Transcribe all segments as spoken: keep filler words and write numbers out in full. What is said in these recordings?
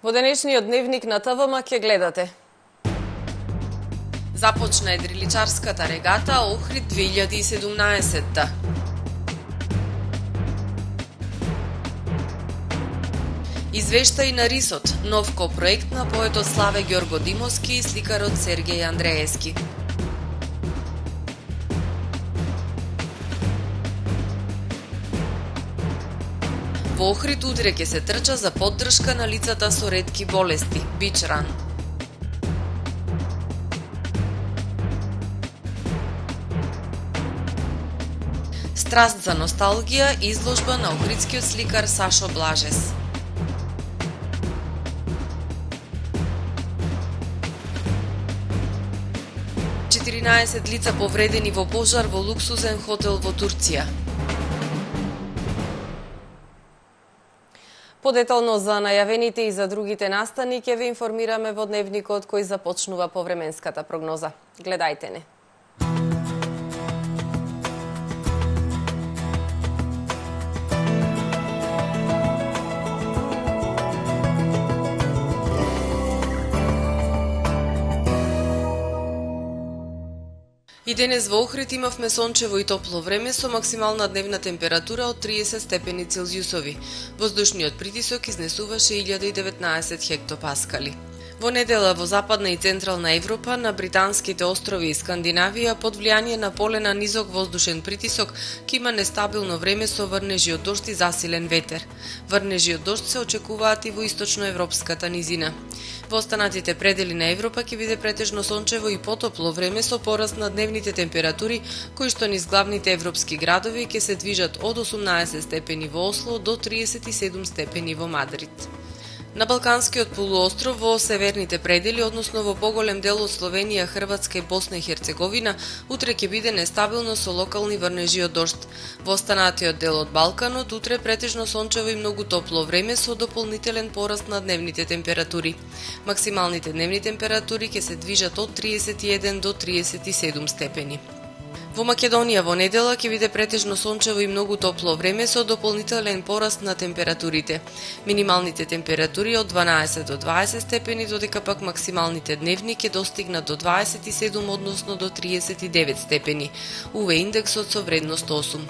Во денешниот дневник на Т В М ќе гледате. Започна едриличарската регата Охрид две илјади и седумнаесетта. Извештај на Рисот, нов ко-проект на поетот Славе Ѓорго Димовски и сликарот Сергеј Андреевски. Во Охрид утре ќе се трча за поддршка на лицата со ретки болести, Бич Ран. Страст за носталгија, изложба на охридскиот сликар Сашо Блажес. четиринаесет лица повредени во пожар во луксузен хотел во Турција. Подетално за најавените и за другите настани ќе ве информираме во дневникот кој започнува повременската прогноза. Гледајте не. И денес во Охрид имавме сончево и топло време со максимална дневна температура од триесет степени Целзиусови. Воздушниот притисок изнесуваше илјада и деветнаесет хектопаскали. Во недела во Западна и Централна Европа, на британските острови и Скандинавија, под влијание на полена низок воздушен притисок, ќе има нестабилно време со врнежи од дожд и засилен ветер. Врнежи од дожд се очекуваат и во источноевропската низина. Во останатите предели на Европа ќе биде претежно сончево и потопло време со пораст на дневните температури, кои што низ главните европски градови ќе се движат од осумнаесет степени во Осло до триесет и седум степени во Мадрид. На Балканскиот полуостров, во северните предели, односно во поголем дел од Словенија, Хрватска и Босна и Херцеговина, утре ќе биде нестабилно со локални врнежи од дожд. Во останатиот дел од Балканот, утре претежно сончево и многу топло време со дополнителен пораст на дневните температури. Максималните дневни температури ќе се движат од триесет и еден до триесет и седум степени. Во Македонија во недела ќе биде претежно сончево и многу топло време со дополнителен пораст на температурите. Минималните температури од дванаесет до дваесет степени, додека пак максималните дневни ќе достигнат до дваесет и седум, односно до триесет и девет степени. УВ индексот со вредност осум.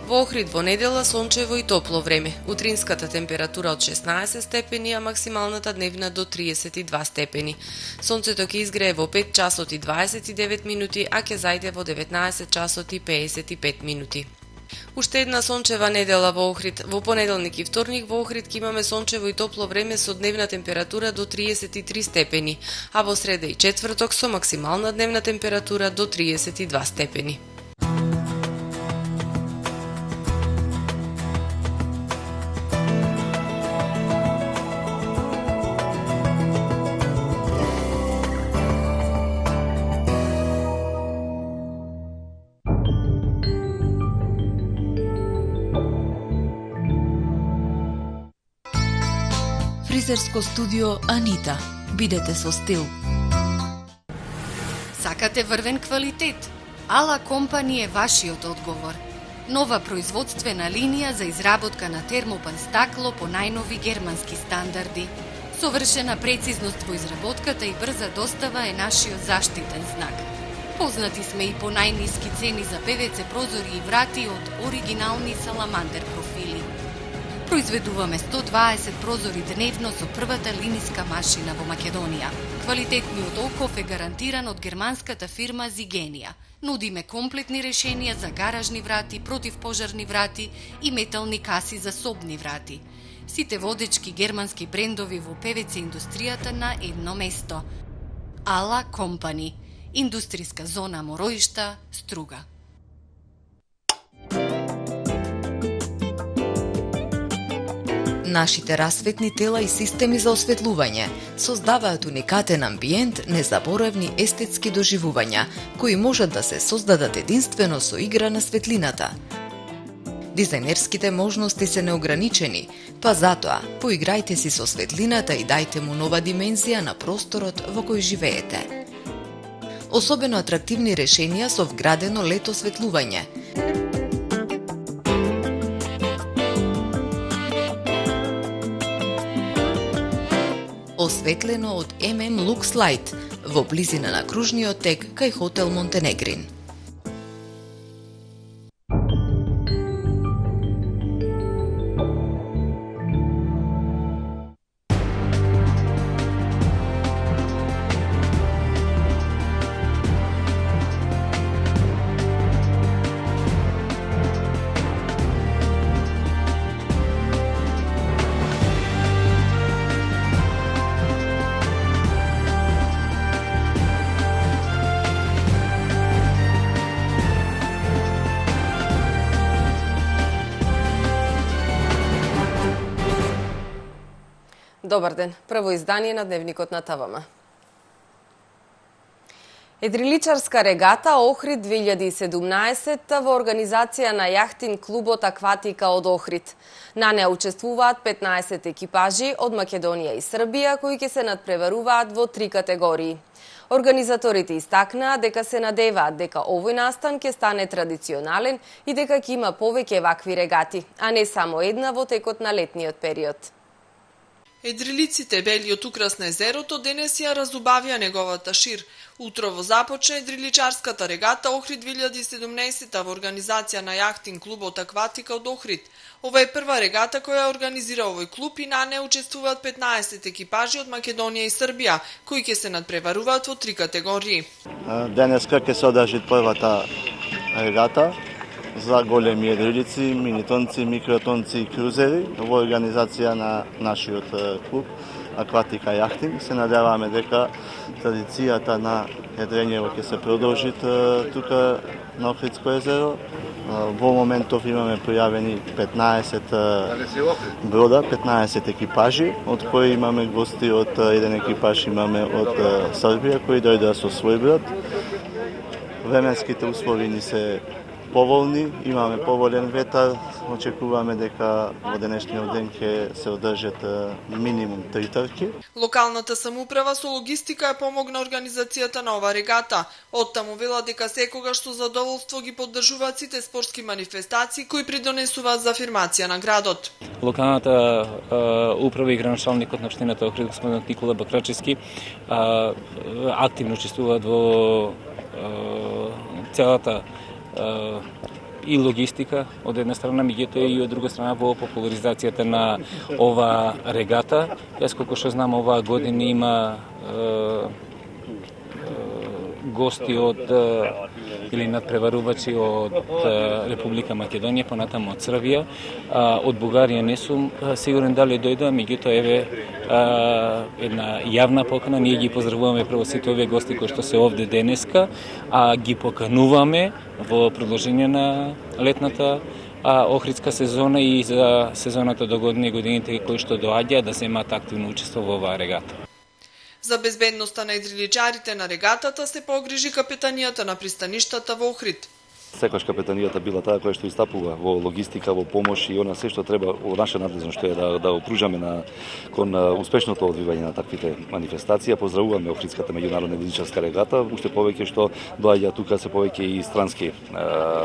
Во Охрид во недела сончево и топло време. Утринската температура од шеснаесет степени, а максималната дневна до триесет и два степени. Сонцето ќе изгрее во пет часот и дваесет и девет минути, а ќе зајде во деветнаесет часот и пеесет и пет минути. Уште една сончева недела во Охрид. Во понеделник и вторник во Охрид ќе имаме сончево и топло време со дневна температура до триесет и три степени, а во среда и четврток со максимална дневна температура до триесет и два степени. Фризерско студио Анита. Бидете со стил. Сакате врвен квалитет? Ала Компани е вашиот одговор. Нова производствена линија за изработка на термопан стакло по најнови германски стандарди. Совршена прецизност во изработката и брза достава е нашиот заштитен знак. Познати сме и по најниски цени за Пе Ве Це прозори и врати од оригинални саламандер профили. Произведуваме сто дваесет прозори дневно со првата линиска машина во Македонија. Квалитетниот оков е гарантиран од германската фирма Зигенија. Нудиме комплетни решенија за гаражни врати, противпожарни врати и метални каси за собни врати. Сите водечки германски брендови во Пе Ве Це индустријата на едно место. Ала Компани. Индустријска зона Мороишта, Струга. Нашите расветни тела и системи за осветлување создаваат уникатен амбиент, незаборавни естетски доживувања, кои можат да се создадат единствено со игра на светлината. Дизајнерските можности се неограничени, па затоа поиграјте си со светлината и дајте му нова димензија на просторот во кој живеете. Особено атрактивни решенија со вградено лед осветлување. осветлено од ем ем Lux Light во близина на кружниот тек кај хотел Монтенегрин. Добар ден, прво издание на Дневникот на ТВМ. Едриличарска регата Охрид две илјади и седумнаесет во организација на јахтин клубот Акватика од Охрид. На неа учествуваат петнаесет екипажи од Македонија и Србија кои ќе се надпреваруваат во три категории. Организаторите истакнаа дека се надеваат дека овој настан ќе стане традиционален и дека ќе има повеќе вакви регати, а не само една во текот на летниот период. Едрилиците бели од украс на езерото денес ја разубавија неговата шир. Утрово започна едриличарската регата Охрид две илјади и седумнаесет во организација на јахтин клубот Акватика од Охрид. Ова е прва регата која организира овој клуб и на неа учествуваат петнаесет екипажи од Македонија и Србија, кои ќе се надпреваруваат во три категории. Денеска ќе се одржи првата регата за големи едрилици, минитонци, микротонци и крузери во организација на нашиот клуб Акватика јахтинг. Се надеваме дека традицијата на едрењево ќе се продолжи тука на Охридско езеро. Во моментов имаме пријавени петнаесет брода, петнаесет екипажи, од кои имаме гости од еден екипаж имаме од Србија кои дојдоа со свој брод. Временските услови ни се поволни, имаме поволен ветар, очекуваме дека во денешниот ден ќе се одржат минимум три трки. Локалната самоуправа со логистика ја помогна организацијата на ова регата. Оттаму вела дека секогаш со задоволство ги поддржуваат сите спортски манифестации кои придонесуваат за афирмација на градот. Локалната а, управа и граначалникот на општината Охрид господин Никола Бакрачевски а, активно учествуваат во а, целата и логистика од една страна, меѓутоа и од друга страна во популаризацијата на ова регата. Јас колку што знам, оваа година има е, е, гости од или надпреварувачи од Република Македонија, понатаму од Србија. Од Бугарија не сум сигурен дали дојдоа, меѓутоа еве една јавна покана. Ние ги поздравуваме прво сите овие гости кои што се овде денеска, а ги покануваме во продолжение на летната а, охридска сезона и за сезоната до година и годините кои што доаѓаат да земаат активно учество во оваа регата. За безбедноста на едриличарите на регатата се погрижи капетанијата на пристаништата во Охрид. Секогаш капетанијата била таа која што истапува во логистика, во помош и она се што треба во наша надлежност што е да да опружаме на кон успешното одвивање на таквите манифестации. Поздравуваме Охридската меѓународна едриличарска регата, уште повеќе што доаѓа тука се повеќе и странски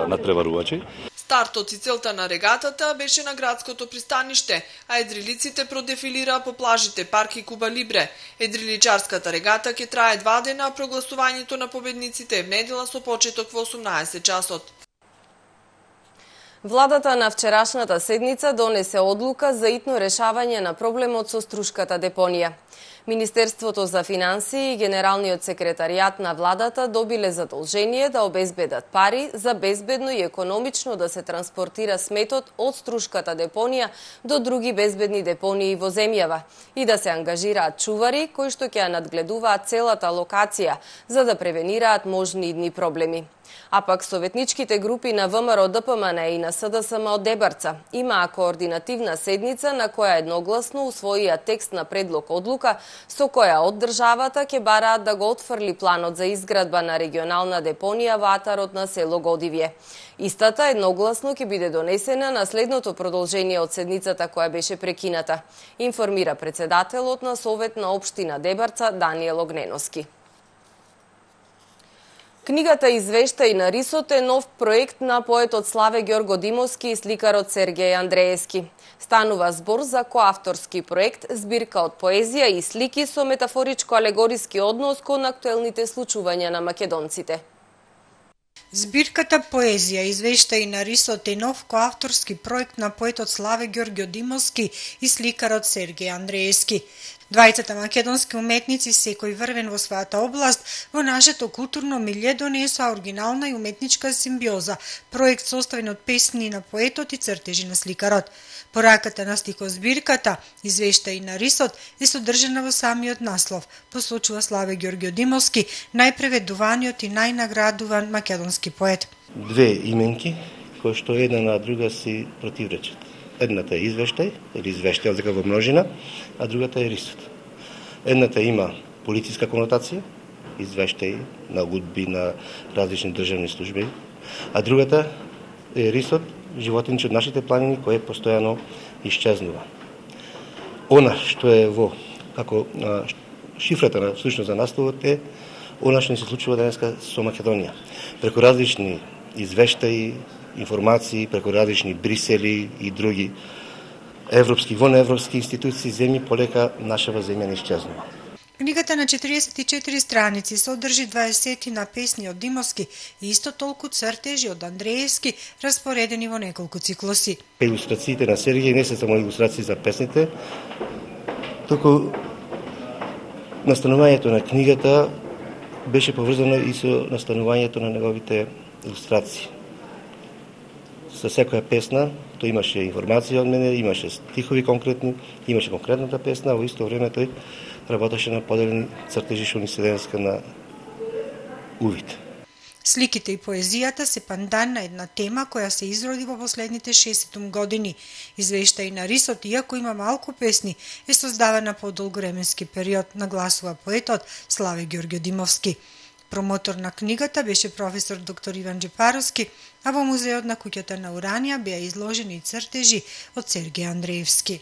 надпреварувачи. Стартот и целта на регатата беше на градското пристаниште, а едрилиците продефилираа по плажите Парк и Куба Либре. Едриличарската регата ќе трае два дена, а прогласувањето на победниците е в недела со почеток во осумнаесет часот. Владата на вчерашната седница донесе одлука за итно решавање на проблемот со Струшката депонија. Министерството за финансии и Генералниот секретаријат на владата добиле задолжение да обезбедат пари за безбедно и економично да се транспортира сметот од Струшката депонија до други безбедни депонии во земјава и да се ангажираат чувари кои што ќе ја надгледуваат целата локација за да превенираат можни идни проблеми. А пак советничките групи на ВМРО Д П М Н и на С Д С М од Дебарца имаа координативна седница на која едногласно усвоија текст на предлог одлука со која од државата ќе бараат да го отфрли планот за изградба на регионална депонија во атарот на село Годивје. Истата едногласно ќе биде донесена на следното продолжение од седницата која беше прекината, информира председателот на Совет на општина Дебарца Даниел Огненовски. Книгата Извештаи на рисот е нов проект на поетот Славе Ѓоргодимовски и сликарот Сергеј Андреевски. Станува збор за коавторски проект, збирка од поезија и слики со метафоричко-алегориски однос кон актуелните случувања на македонците. Збирката Поезија Извештаи на рисот е нов коавторски проект на поетот Славе Ѓоргодимовски и сликарот Сергеј Андреевски. Двајцата македонски уметници, секој врвен во својата област, во нашето културно милје донесоа оригинална и уметничка симбиоза, проект составен од песни на поетот и цртежи на сликарот. Пораката на стихозбирката Извештаи на рисот е содржана во самиот наслов, посочува Славе Ѓоргодимовски, најпреведуваниот и најнаградуван македонски поет. Две именки кои што една на друга си противречат. Едната е извештај, или извештај дека во множина, а другата е рисот. Едната има политичка конотација, извештај на гудби на различни државни служби, а другата е рисот, животинче од нашите планини, кој постојано исчезнува. Она што е во, како а, шифрата на всушност за насловот е, она што ни се случува денеска со Македонија. Преку различни извештаи, информации, преку различни Брисели и други европски, вонеевропски институции, земји, полека нашава земја не исчезнува. Книгата на четириесет и четири страници содржи дваесет на песни од Димовски и исто толку цртежи од Андреевски, распоредени во неколку циклуси. Илустрациите на Сергеј не се само илустрации за песните, туку настанувањето на книгата беше поврзано и со настанувањето на неговите илустрации. За секоја песна, тој имаше информација од мене, имаше стихови конкретни, имаше конкретната песна, а во исто време тој работеше на поделени цртежи што ни се денеска на увид. Сликите и поезијата се пандан на една тема која се изроди во последните шестдесет години. Извештаи на рисот, иако има малку песни, е создавана по долгоременски период, нагласува поетот Славе Ѓоргодимовски. Промотор на книгата беше професор доктор Иван Джепаровски, а во музеот на куќата на Уранија беа изложени цртежи од Сергеј Андреевски.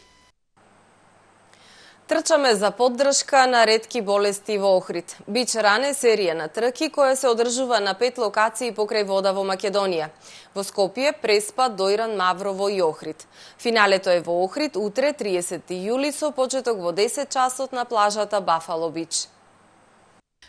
Трчаме за поддршка на ретки болести во Охрид. Бич ран е серија на трки која се одржува на пет локации покрај вода во Македонија. Во Скопје, Преспа, Дојран, Маврово и Охрид. Финалето е во Охрид утре триесети јули со почеток во десет часот на плажата Бафало Бич.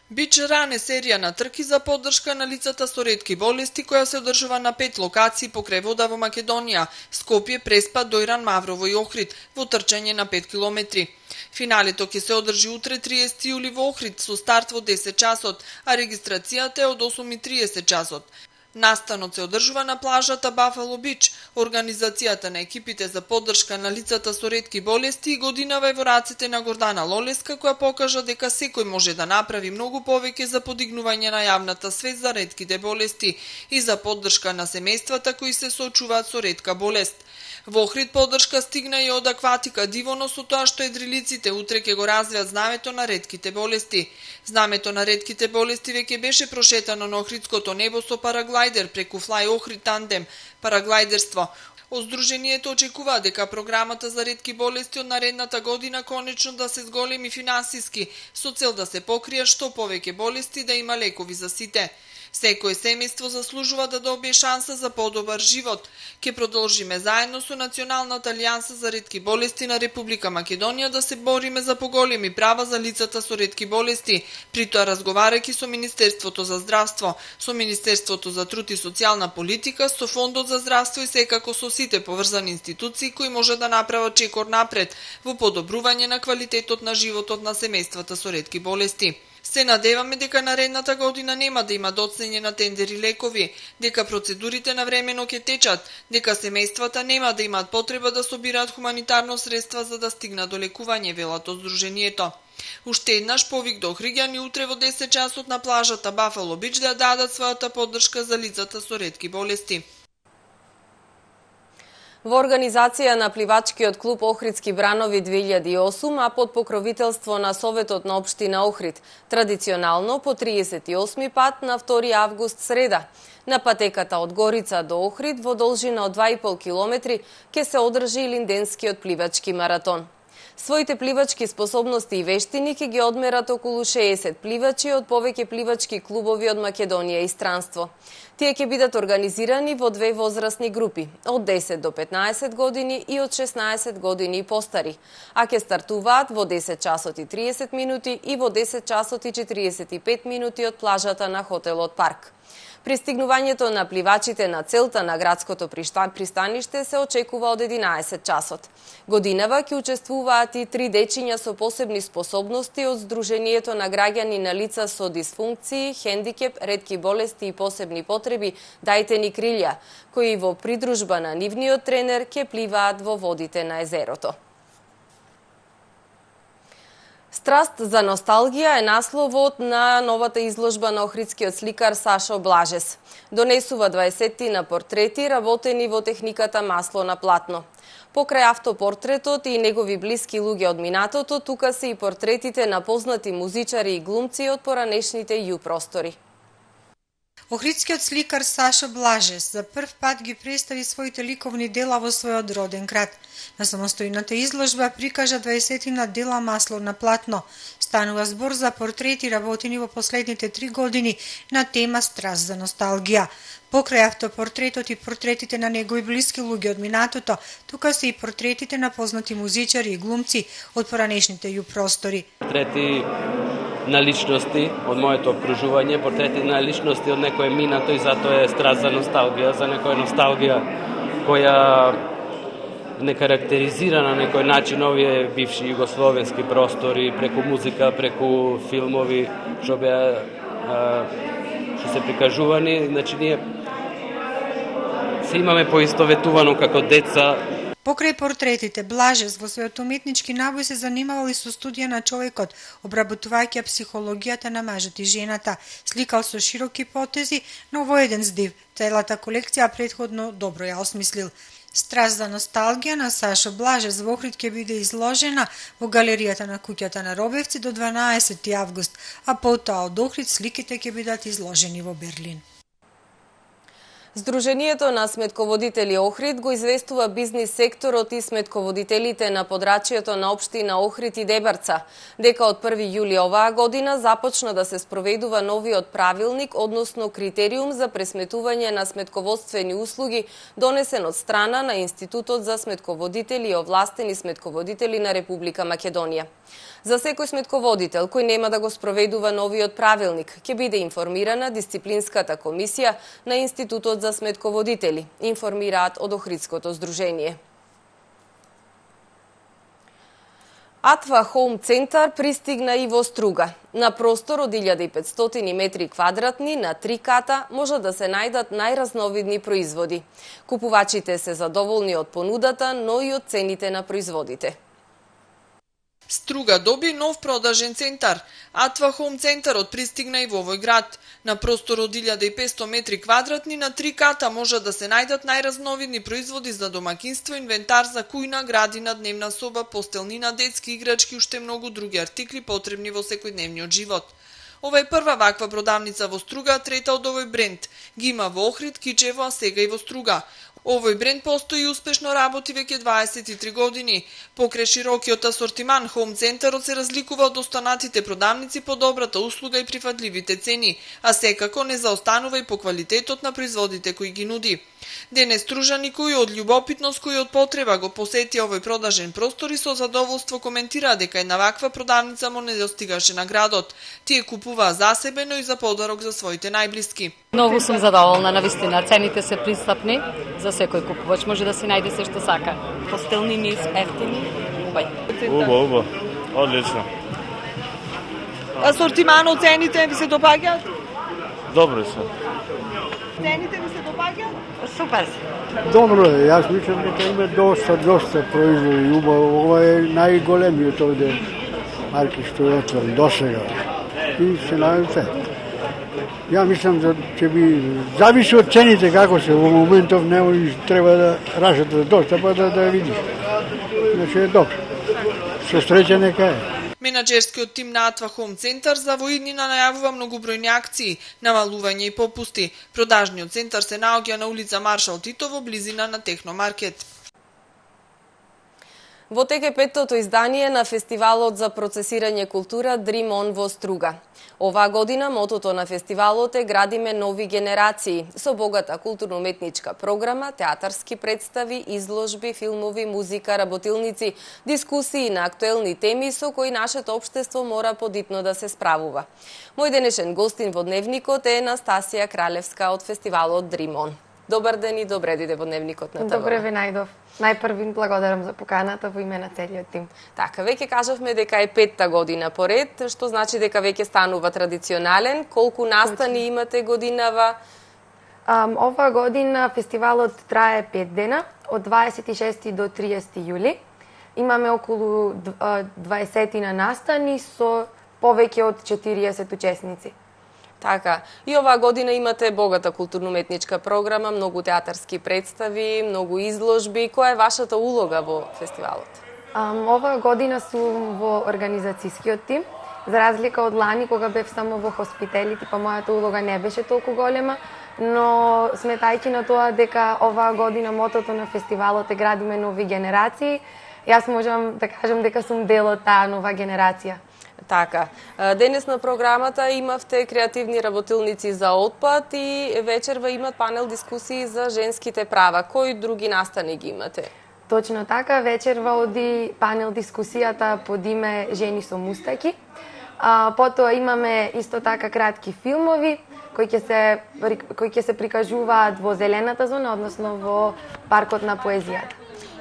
Бич ран е серија на трки за поддршка на лицата со ретки болести која се одржува на пет локации покрај вода во Македонија: Скопје, Преспа, Дојран, Маврово и Охрид, во трчање на пет километри. Финалето ќе се одржи утре триесети јули во Охрид со старт во десет часот, а регистрацијата е од осум и триесет часот. Настанот се одржува на плажата Бафало Бич. Организацијата на екипите за поддршка на лицата со ретки болести годинава е во рацете на Гордана Лолеска, која покажа дека секој може да направи многу повеќе за подигнување на јавната свест за ретките болести и за поддршка на семејствата кои се соочуваат со ретка болест. Во Охрид поддршка стигна и од Акватика Дивоно со тоа што едрилиците утре ќе го развијат знамето на ретките болести. Знамето на ретките болести веќе беше прошетано на Охридското небо со параглајдер преку Fly Охрид тандем параглајдерство.Оздруженијето очекува дека програмата за ретки болести од наредната година конечно да се зголеми финансиски со цел да се покријат што повеќе болести да има лекови за сите. Секој семејство заслужува да добие шанса за подобар живот. Ке продолжиме заедно со Националната алијанса за ретки болести на Република Македонија да се бориме за поголеми права за лицата со ретки болести, при тоа разговарајќи со Министерството за здравство, со Министерството за труд и социјална политика, со Фондот за здравство и секако со сите поврзани институции кои може да направат чекор напред во подобрување на квалитетот на животот на семејствата со ретки болести. Се надеваме дека наредната година нема да има доцнење на тендери лекови, дека процедурите навремено ќе течат, дека семејствата нема да имаат потреба да собираат хуманитарно средства за да стигнат до лекување, велат од Сдруженијето. Уште еднаш повик до Охриѓани утре во десет часот на плажата Бафало Бич да дадат својата поддршка за лицата со ретки болести. Во организација на пливачкиот клуб Охридски бранови две илјади и осум, а под покровителство на Советот на општина Охрид, традиционално по триесет и осми пат на втори август среда. На патеката од Горица до Охрид во должина од два и пол километри ќе се одржи Линденскиот пливачки маратон. Своите пливачки способности и вештини ќе ги одмерат околу шеесет пливачи од повеќе пливачки клубови од Македонија и странство. Тие ќе бидат организирани во две возрастни групи, од десет до петнаесет години и од шеснаесет години и постари, а ќе стартуваат во десет часот и триесет минути и во десет часот и четириесет и пет минути од плажата на хотелот Парк. Пристигнувањето на пливачите на целта на градското пристаниште се очекува од единаесет часот. Годинава ќе учествуваат и три дечиња со посебни способности од Сдруженијето на граѓани на лица со дисфункции, хендикеп, ретки болести и посебни потреби Дајте ни крилја, кои во придружба на нивниот тренер ќе пливаат во водите на езерото. Страст за носталгија е насловот на новата изложба на охридскиот сликар Сашо Блажес. Донесува дваесеттина портрети работени во техниката масло на платно. Покрај автопортретот и негови блиски луѓе од минатото, тука се и портретите на познати музичари и глумци од поранешните ју простори. Охридскиот сликар Сашо Блажес за прв пат ги представи своите ликовни дела во својот роден град. На самостојната изложба прикажа дваесеттина дела масло на платно. Станува збор за портрети работени во последните три години на тема страст за носталгија. Покрај автопортретот и портретите на негови блиски луѓе од минатото, тука се и портретите на познати музичари и глумци од поранешните ју простори. Портрети на личности од моето окружување, портрети на личности од некое минато и затоа е страст за носталгија, за некоја носталгија која не карактеризира на некој начин овие бивши југословенски простори преку музика, преку филмови што беа што се прикажувани, значи ние се имаме поистоветувано како деца. Покрај портретите, Блажес во својот уметнички набој се занимавал и со студија на човекот, обработувајќи психологијата на мажот и жената, сликал со широки потези, но во еден здив. Целата колекција претходно добро ја осмислил. Страст за носталгија на Сашо Блажес во Охрид ќе биде изложена во галеријата на куќата на Робевци до дванаесети август, а потоа од Охрид сликите ќе бидат изложени во Берлин. Сдруженијето на сметководители Охрид го известува бизнис секторот и сметководителите на подрачјето на општина Охрид и Дебарца, дека од први јули оваа година започна да се спроведува новиот правилник, односно критериум за пресметување на сметководствени услуги, донесен од страна на Институтот за сметководители и овластени сметководители на Република Македонија. За секој сметководител кој нема да го спроведува новиот правилник, ќе биде информирана дисциплинската комисија на Институтот за сметководители, информираат од Охридското здружение. Атва Хоум Центар пристигна и во Струга. На простор од илјада и петстотини метри квадратни на три ката може да се најдат најразновидни производи. Купувачите се задоволни од понудата, но и од цените на производите. Струга доби нов продажен центар. Атва Хоум Центарот пристигна и во овој град. На простор од илјада и петстотини метри квадратни на три ката може да се најдат најразновидни производи за домакинство, инвентар за кујна, градина, дневна соба, постелнина, детски играчки и уште многу други артикли потребни во секојдневниот живот. Ова е прва ваква продавница во Струга, трета од овој бренд. Ги има во Охрид, Кичево, а сега и во Струга. Овој бренд постои и успешно работи веќе дваесет и три години. Покрај широкиот асортиман, Хоум Центарот се разликува од останатите продавници по добрата услуга и прифатливите цени, а секако не заостанува и по квалитетот на производите кои ги нуди. Денес стружани кои од љубопитност, кои од потреба го посетија овој продажен простор и со задоволство коментира дека една ваква продавница му не достигаше на градот. Тие купуваа за себе, но и за подарок за своите најблиски. Многу сум задоволна, навистина. Цените се пристапни, за секој купувач може да си најде се што сака. Постелнини, ефтини, убај. Убаво, убаво. Одлично. Асортиманот, цените ви се допаѓаат? Добри се. Цените ви се допаѓаат? Супер. Добро е, јас мислам дека има доста, доста производи. Убаво, ова е најголемиот овде марки што е отворен досега. И се најдам се. Ја мислам да ќе би зависи од цените како се во моментов, не треба да рашате доста па да да видиш. Значи е добро. Со среќа нека е. Менаџерскиот тим на Атва Хоум Центар за во иднина најавува многобројни акции, намалување и попусти. Продажниот центар се наоѓа на улица Маршал Тито во близина на Техномаркет. Во тек е петтото издание на фестивалот за процесирање култура Dream On во Струга. Оваа година мотото на фестивалот е Градиме нови генерации, со богата културно-уметничка програма, театарски представи, изложби, филмови, музика, работилници, дискусии на актуелни теми со кои нашето општество мора подитно да се справува. Мој денешен гостин во Дневникот е Настасија Кралевска од фестивалот Dream On. Добар ден и добре дојде во Дневникот на ТВ. Добре ве најдов. Најпрви благодарам за поканата во име на целиот тим. Така, веќе кажавме дека е петта година поред, што значи дека веќе станува традиционален. Колку настани имате годинава? Um, ова година фестивалот трае пет дена, од дваесет и шести до триесети јули. Имаме околу дваесет на настани со повеќе од четириесет учесници. Така, и оваа година имате богата културно-уметничка програма, многу театарски представи, многу изложби. Која е вашата улога во фестивалот? Um, оваа година сум во организацијскиот тим. За разлика од лани, кога бев само во хоспиталити, па мојата улога не беше толку голема, но сметајќи на тоа дека оваа година мотото на фестивалот е Градиме нови генерации, јас можам да кажам дека сум дел од таа нова генерација. Така, денес на програмата имавте креативни работилници за отпад и вечерва имат панел дискусии за женските права. Кои други настани ги имате? Точно така, вечерва оди панел дискусијата под име Жени со мустаки. А, потоа имаме исто така кратки филмови кои ќе се кои ќе се прикажуваат во зелената зона, односно во паркот на поезијата.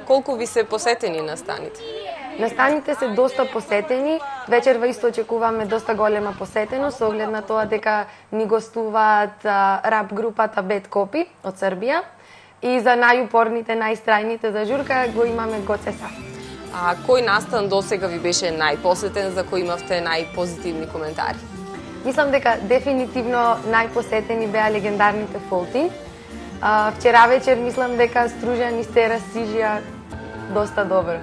Колку ви се посетени настаните? Настаните се доста посетени, вечерва исто очекуваме доста голема посетеност, со оглед на тоа дека ни гостуваат рап групата Bad Copy од Србија и за најупорните, најстрајните за журка го имаме Гоцеса. А кој настан досега ви беше најпосетен, за кој имавте најпозитивни коментари? Мислам дека дефинитивно најпосетени беа легендарните Фолтин. Вчера вечер мислам дека Стружан и се расижија доста добро.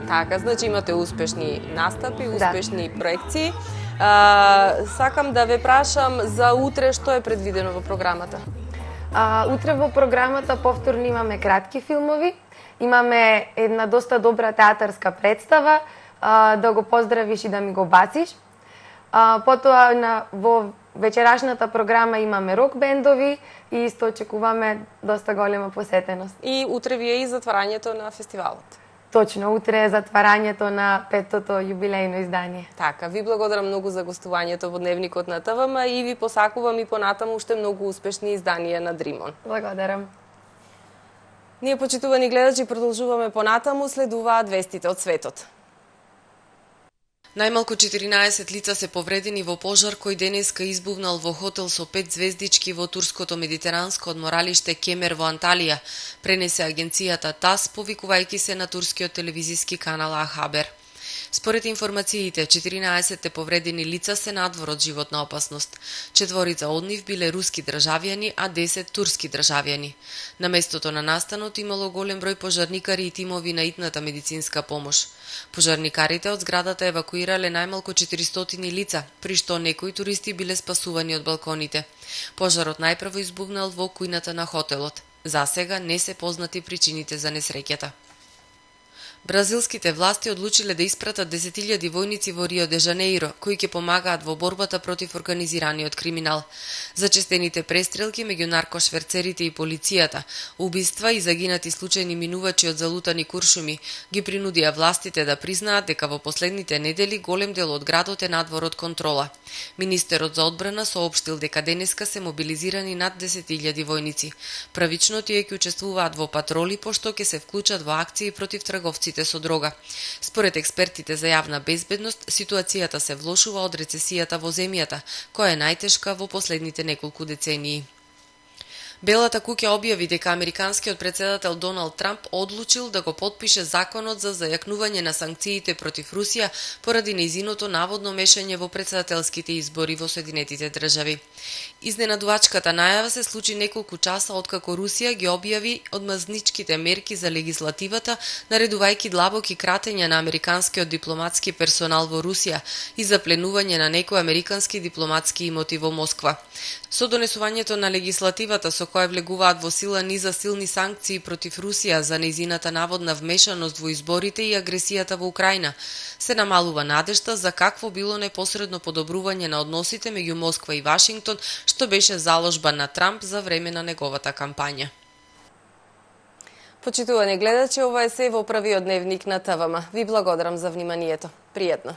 Така, значи имате успешни настапи, успешни да. проекции. А, сакам да ве прашам за утре што е предвидено во програмата? А, утре во програмата повторно имаме кратки филмови, имаме една доста добра театарска представа, а, да го поздравиш и да ми го бациш. А, потоа на, во вечерашната програма имаме рок бендови и исто очекуваме доста голема посетеност. И утре ви е и затварањето на фестивалот. Точно, утре е затварањето на петтото јубилејно издание. Така, ви благодарам многу за гостувањето во Дневникот на ТВМ и ви посакувам и понатаму уште многу успешни изданија на Dream On. Благодарам. Ние, почитувани гледачи, продолжуваме понатаму, следуваат вестите од светот. Најмалку четиринаесет лица се повредени во пожар кој денеска избувнал во хотел со пет звездички во турското медитеранско одморалиште Кемер во Анталија, пренесе агенцијата ТАСС, повикувајќи се на турскиот телевизиски канал А-Хабер. Според информациите, четиринаесет повредени лица се надвор од животна опасност. Четворица од нив биле руски државјани, а десет турски државјани. На местото на настанот имало голем број пожарникари и тимови на итната медицинска помош. Пожарникарите од зградата евакуирале најмалку четиристотини лица, при што некои туристи биле спасувани од балконите. Пожарот најпрво избувнал во кујната на хотелот. За сега не се познати причините за несреќата. Бразилските власти одлучиле да испратат десет илјади војници во Рио де Жанеиро, кои ќе помагаат во борбата против организираниот криминал. Зачестените престрелки меѓу наркошверцерите и полицијата, убиства и загинати случајни минувачи од залутани куршуми, ги принудија властите да признаат дека во последните недели голем дел од градот е надвор од контрола. Министерот за одбрана соопштил дека денеска се мобилизирани над десет илјади војници. Правично тие ќе учествуваат во патроли, пошто ќе се вклучат во акции против трговци со дрога. Според експертите за јавна безбедност, ситуацијата се влошува од рецесијата во земјата, која е најтешка во последните неколку децении. Белата куќа објави дека американскиот претседател Доналд Трамп одлучил да го потпише законот за зајакнување на санкциите против Русија поради нејзиното наводно мешање во претседателските избори во Соединетите држави. Изненадувачката најава се случи неколку часа откако Русија ги објави одмазничките мерки за легислативата, наредувајќи длабоки кратења на американскиот дипломатски персонал во Русија и запленување на некои американски дипломатски имоти во Москва. Со донесувањето на легислативата со која влегуваат во сила низа силни санкции против Русија за нејзината наводна вмешаност во изборите и агресијата во Украина, се намалува надежта за какво било непосредно подобрување на односите меѓу Москва и Вашингтон, што беше заложба на Трамп за време на неговата кампања. Почитувани гледачи, ова е се во првиот дневник на ТВМ. Ви благодарам за вниманието. Пријатно.